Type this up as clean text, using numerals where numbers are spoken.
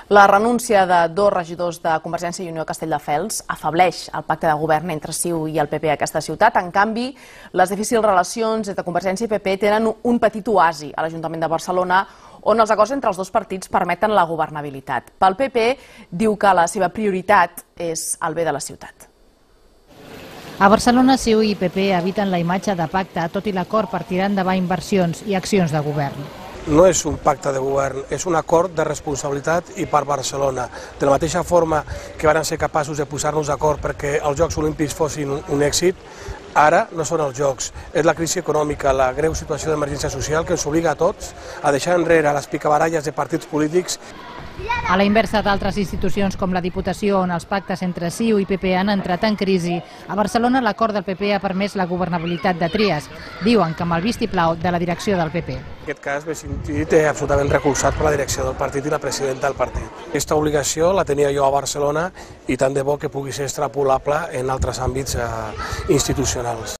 La renúncia de dos regidors de Convergència i Unió a Castelldefels afableix el pacte de govern entre CiU i el PP a aquesta ciutat. En canvi, les difícils relacions entre Convergència i PP tenen un petit oasi a l'Ajuntament de Barcelona, on els acords entre els dos partits permeten la governabilitat. Pel PP, diu que la seva prioritat és el bé de la ciutat. A Barcelona, CiU i PP eviten la imatge de pacte, tot i l'acord per tirar endavant inversions i accions de govern. No és un pacte de govern, és un acord de responsabilitat i per Barcelona. De la mateixa forma que van ser capaços de posar-nos d'acord perquè els Jocs Olímpics fossin un èxit, ara no són els Jocs. És la crisi econòmica, la greu situació d'emergència social que ens obliga a tots a deixar enrere les picabaralles de partits polítics. A la inversa d'altres institucions com la Diputació, on els pactes entre CiU i PP han entrat en crisi, a Barcelona l'acord del PP ha permès la governabilitat de Trias. Diuen que amb el vistiplau de la direcció del PP. En aquest cas m'he sentit absolutament recolzat per la direcció del partit i la presidenta del partit. Aquesta obligació la tenia jo a Barcelona i tant de bo que pugui ser extrapolable en altres àmbits institucionals.